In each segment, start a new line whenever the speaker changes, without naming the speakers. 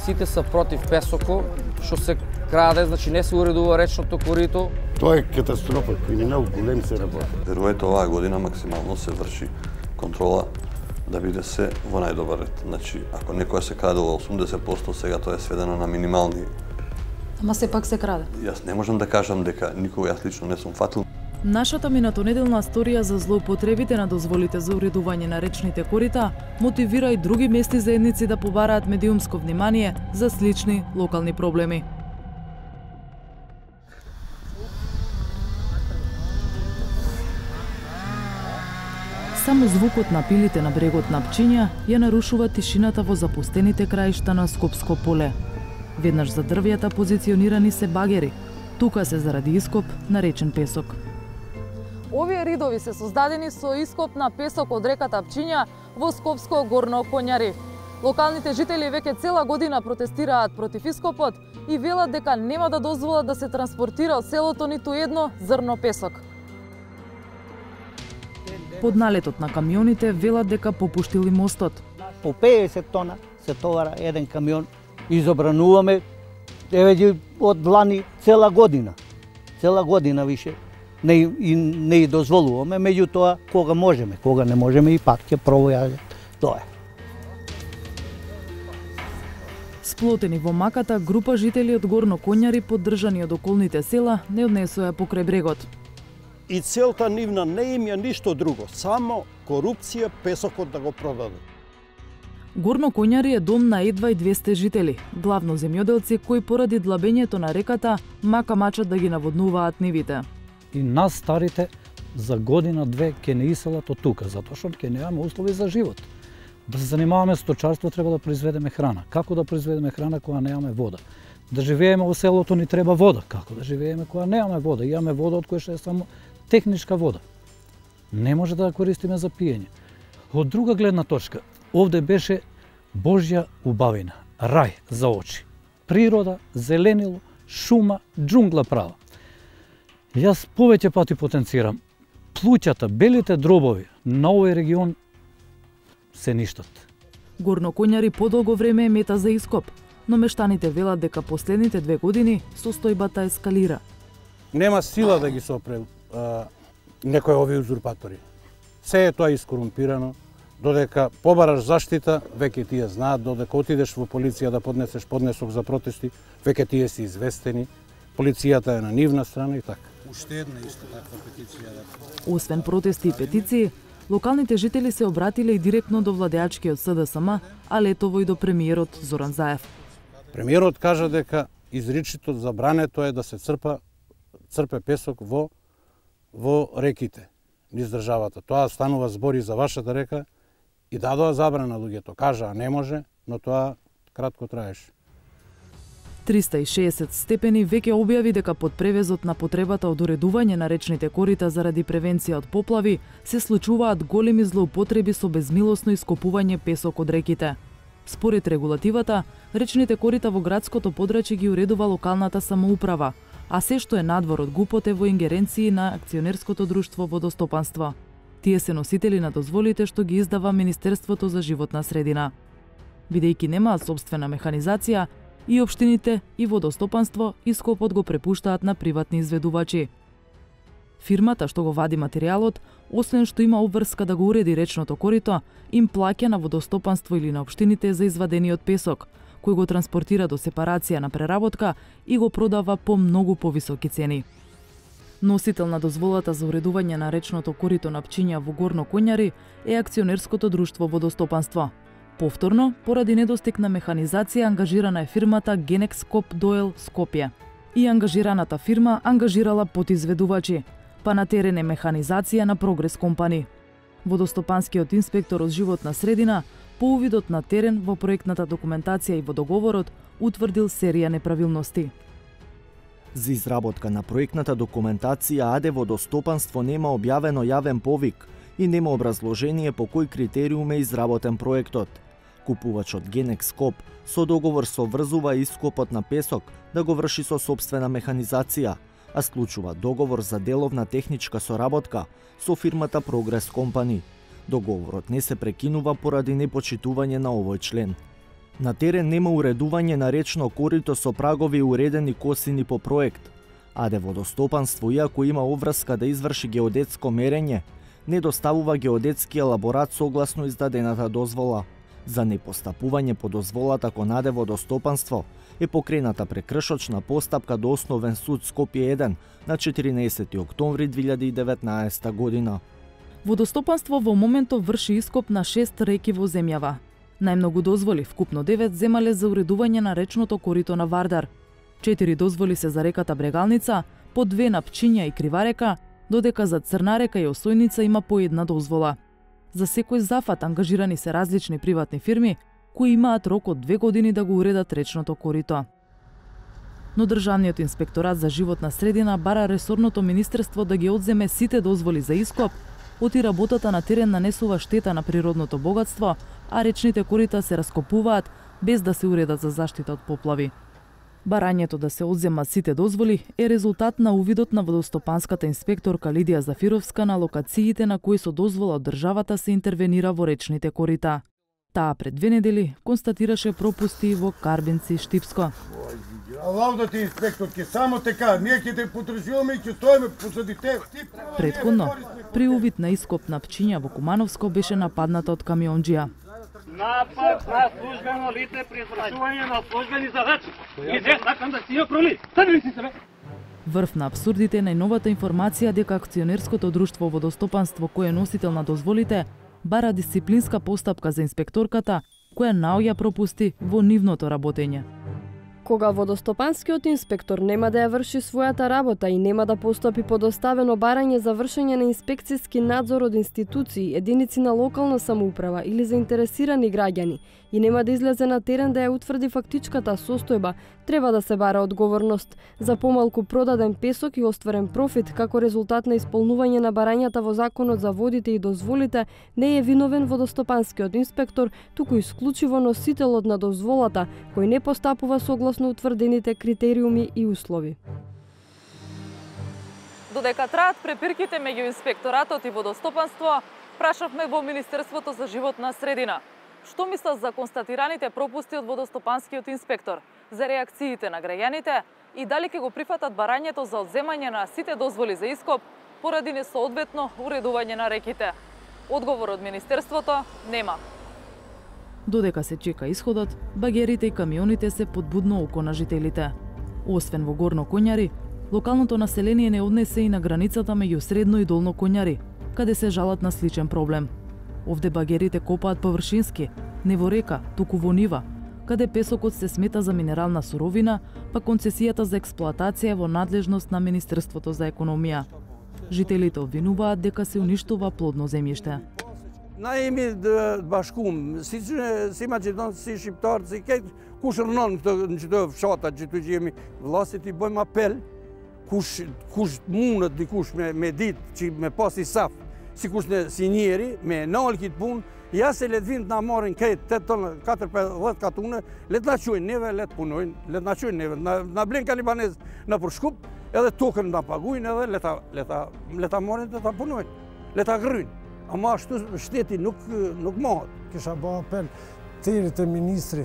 Сите се против песоко, што се краде, значи не се уредува речното корито.
Тоа е катастрофа, криминал голем се работи.
Верувајте, оваа година максимално се врши контрола да биде се во најдобар ред. Значи, ако некоја се крадело 80%, сега тоа е сведено на минимални.
Ама сепак се краде.
Јас не можам да кажам дека никога јас лично не сум фатил.
Нашата минатонеделна сторија за злоупотребите на дозволите за уредување на речните корита мотивира и други местни заедници да побараат медиумско внимание за слични локални проблеми. Само звукот на пилите на брегот на Пчиња ја нарушува тишината во запустените краишта на Скопско поле. Веднаш за дрвјата позиционирани се багери. Тука се заради ископ на речен песок.
Овие ридови се создадени со ископ на песок од реката Пчиња во Скопско горно Коњари. Локалните жители веќе цела година протестираат против ископот и велат дека нема да дозволат да се транспортира од селото ниту едно зрно песок.
Под налетот на камионите велат дека попуштили мостот.
По 50 тона се товара еден камион. Изобрануваме еве од лани цела година. Цела година више не дозволуваме, меѓутоа кога можеме, кога не можеме и пак ќе пробојаме. Тоа е.
Сплотени во маката, група жители од Горно Коњари, поддржани од околните села, не однесоа покрај брегот.
И целта нивна не им е ништо друго, само корупција, песокот да го продадат.
Горно Коњари е дом на едва и 200 жители, главно земјоделци кои поради длабењето на реката мака мачат да ги наводнуваат нивите.
И нас старите за година-две ќе не иселат од тука, затоа што ќе немаме услови за живот. Да се занимаваме сточарство, треба да произведеме храна. Како да произведеме храна кога немаме вода? Да живееме во селото ни треба вода. Како да живееме кога немаме вода? Имаме вода од која што е само техничка вода. Не може да ја користиме за пиење. Од друга гледна точка, овде беше Божја убавина, рај за очи. Природа, зеленило, шума, џунгла права. Јас повеќе пати потенцирам, плуќата, белите дробови на овој регион се ништат.
Горно Коњари подолго време е мета за ископ, но мештаните велат дека последните 2 години состојбата ескалира.
Нема сила да ги сопре некои овие узурпатори. Се е тоа искорумпирано, додека побараш заштита, веќе тие знаат, додека отидеш во полиција да поднесеш поднесок за протести, веќе тие се известени, полицијата е на нивна страна и така.
Уште една исто таква петиција.
Освен протести и петиции, локалните жители се обратиле и директно до владеачкиот СДСМ, а летово и до премиерот Зоран Заев.
Премиерот кажа дека изричито забрането е да се црпе песок во реките низ државата. Тоа станува збори за вашата река и дадоа забрана луѓето. Кажаа не може, но тоа кратко траеше.
360 степени веќе објави дека под превезот на потребата од уредување на речните корита заради превенција од поплави се случуваат големи злоупотреби со безмилосно ископување песок од реките. Според регулативата, речните корита во градското подрачје ги уредува локалната самоуправа, а се што е надвор од ГУПот е во ингеренции на акционерското друштво Водостопанство. Тие се носители на дозволите што ги издава Министерството за животна средина. Бидејќи немаат сопствена механизација, и општините и Водостопанство ископот го препуштаат на приватни изведувачи. Фирмата што го вади материјалот, освен што има обврска да го уреди речното корито, им плаќа на Водостопанство или на општините за извадениот песок, кој го транспортира до сепарација на преработка и го продава по многу повисоки цени. Носител на дозволата за уредување на речното корито на Пчиња во Горно Коњари е акционерското друштво Водостопанство. Повторно, поради недостиг на механизација, ангажирана е фирмата Genexcop Doel Скопје. И ангажираната фирма ангажирала подизведувачи, па на терен е механизација на Прогрес Компани. Водостопанскиот инспектор од животна средина, по увидот на терен во проектната документација и во договорот, утврдил серија неправилности.
За изработка на проектната документација АД Водостопанство нема објавено јавен повик и нема образложение по кој критериум е изработен проектот. Купувачот Genexcop со договор соврзува ископот на песок да го врши со сопствена механизација, а склучува договор за деловна техничка соработка со фирмата Progress Company. Договорот не се прекинува поради непочитување на овој член. На терен нема уредување на речно корито со прагови уредени косини по проект. АД Водостопанство, иако има обврска да изврши геодетско мерење, не доставува геодетски елаборат согласно издадената дозвола. За непостапување по дозволата кон АД Водостопанство е покрената прекршочна постапка до Основен суд Скопје 1 на 14 октомври 2019 година.
Водостопанство во моментов врши ископ на 6 реки во земјава. Најмногу дозволи, вкупно 9, земале за уредување на речното корито на Вардар. 4 дозволи се за реката Брегалница, по 2 на Пчиња и Криварека, додека за Црна река и Осојница има по 1 дозвола. За секој зафат ангажирани се различни приватни фирми, кои имаат рок од 2 години да го уредат речното корито. Но Државниот инспекторат за животна средина бара ресорното министерство да ги одземе сите дозволи за ископ, оти работата на терен нанесува штета на природното богатство, а речните корита се раскопуваат без да се уредат за заштита од поплави. Барањето да се одземат сите дозволи е резултат на увидот на водостопанската инспекторка Лидија Зафировска на локациите на кои со дозвола од државата се интервенира во речните корита. Таа пред 2 недели констатираше пропусти во Карбенци и Штипско.
А лаудата инспекторки, само така, ние ќе те потржуваме и ќе стоиме позади тебе.
Предходно, при увид на ископ на Пчиња во Кумановско беше нападната од камионџија.
Напад на службено лице при извршување на службени задачи. И се сакам да си ја проли. Стани ли си се?
Врв на абсурдите е најновата информација дека акционерското друштво Водостопанство, кое е носител на дозволите, бара дисциплинска постапка за инспекторката, која наоѓа пропусти во нивното работење.
Кога водостопанскиот инспектор нема да ја врши својата работа и нема да постапи по доставено барање за вршење на инспекцијски надзор од институции, единици на локална самоуправа или заинтересирани граѓани и нема да излезе на терен да ја утврди фактичката состојба, треба да се бара одговорност. За помалку продаден песок и остварен профит како резултат на исполнување на барањата во Законот за водите и дозволите, не е виновен водостопанскиот инспектор, туку исклучиво носителот на дозволата, кој не постапува согласно утврдените критериуми и услови.
Додека траат препирките меѓу инспекторатот и водостопанство, прашавме во Министерството за животна средина. Што мислат за констатираните пропусти од водостопанскиот инспектор, за реакциите на граѓаните и дали ќе го прифатат барањето за одземање на сите дозволи за ископ поради несоодветно уредување на реките? Одговор од Министерството нема.
Додека се чека исходот, багерите и камионите се подбудно око на жителите. Освен во Горно Коњари, локалното население не однесе и на границата меѓу Средно и Долно Коњари, каде се жалат на сличен проблем. Овде багерите копаат површински, не во река, туку во нива, каде песокот се смета за минерална суровина, па концесијата за експлоатација во надлежност на Министерството за економија. Жителите обвинуваат дека се уништува плодно земјиште.
Наими башкум, си македонци, шиптарци, куш рнон, че тоа фшата, че тој жеми властите бојм апел, куш мунат ди куш ме дит, че ме паси саф, си куш не синьери, ме наолкит пун, јас се лет винт на морен кај 4-5 лет катуна, лет на чуј неве, лет пуноин, лет на чуј неве, на блинка либанез на прошкуп, еде токен на пагуин, еде лета морен, лета пуноин, лета грюн. Ама што штети nuk mohat.
Kisha bë apel terit e ministri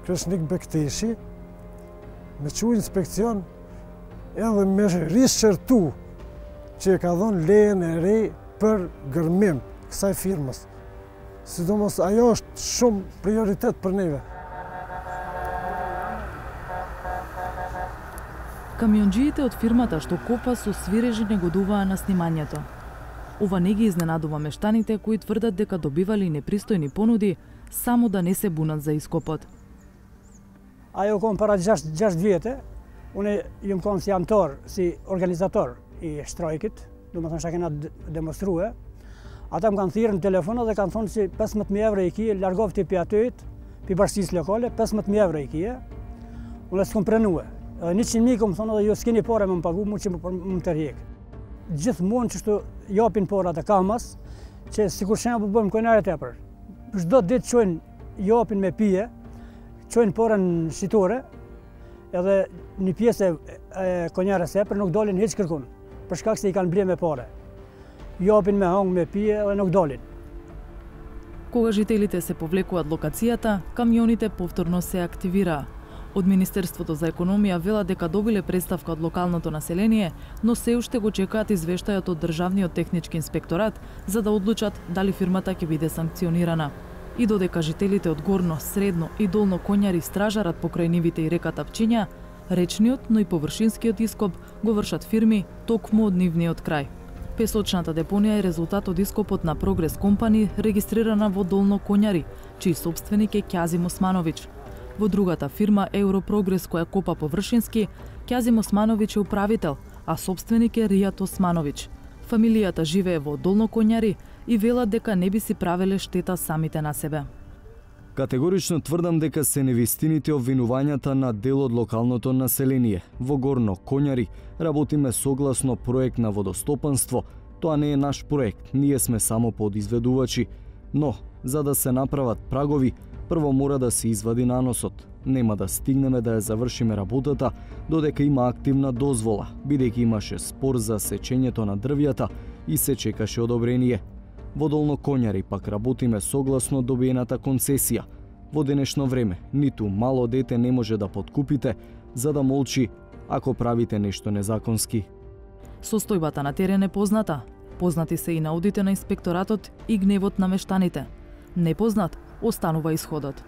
Kreshnik Bekteshi me çu inspekcion edhe me rishqertu që e ka dhënë lejen e re për gërmim kësaj firmës. Sidomos ajo është shumë prioritet për neve.
Камионџиите од фирмата што копа со свирежи негодуваа на снимањето. Ова не ги изненадува мештаните кои тврдат дека добивали непристојни понуди само да не се бунат за ископот.
Ajo kom para 6 vjetë, unë jam kon si anëtar, si organizator i shtrajkit, do më thënë që kena demonstrue. Ata më kanë thirrë në telefon dhe kanë thonë si 15.000 euro i kije, largovti pi atyjt, pi bashkisë lokale, 15.000 euro i kije. Unë s'kom prenue. Edhe 100.000 kom thonë dhe jo s'keni pare më pagu, mu që më tërhjek. Gjithmonë që shtu japin porat e kamas, që sikur shembull bëjmë konjare tepër. Çdo ditë çojnë japin me pije, çojnë porën shitore, edhe një pjesë e konjarës tepër nuk dalin hiç kërkun, për shkak se i kanë blerë me pare. Japin me hang me pije edhe nuk dalin.
Кога жителите се повлекуваат локацијата, камионите повторно се активираа. Од Министерството за економија велат дека добиле представка од локалното население, но се уште го чекаат извештајот од Државниот технички инспекторат за да одлучат дали фирмата ќе биде санкционирана. И додека жителите од Горно, Средно и Долно Конјари стражарат покрај нивите и реката Пчиња, речниот, но и површинскиот ископ го вршат фирми токму од нивниот крај. Песочната депонија е резултат од ископот на Прогрес компани регистрирана во Долно Конјари, чиј собственик е Ќазим Османовиќ. Во другата фирма Европрогрес која копа површински, Ќазим Османовиќ е управител, а собственик е Ријат Османовиќ. Фамилијата живее во Долно Конјари и велат дека не би си правеле штета самите на себе.
Категорично тврдам дека се невистините обвинувањата на дел од локалното население. Во Горно Конјари работиме согласно проект на водостопанство. Тоа не е наш проект, ние сме само подизведувачи. Но, за да се направат прагови, прво мора да се извади наносот. Нема да стигнеме да ја завршиме работата додека има активна дозвола, бидејќи имаше спор за сечењето на дрвјата и се чекаше одобрение. Во Долно Конјари пак работиме согласно добиената концесија. Во денешно време, ниту мало дете не може да подкупите, за да молчи ако правите нешто незаконски.
Состојбата на терен е позната. Познати се и наудите на инспекторатот и гневот на мештаните. Непознат останува исходот.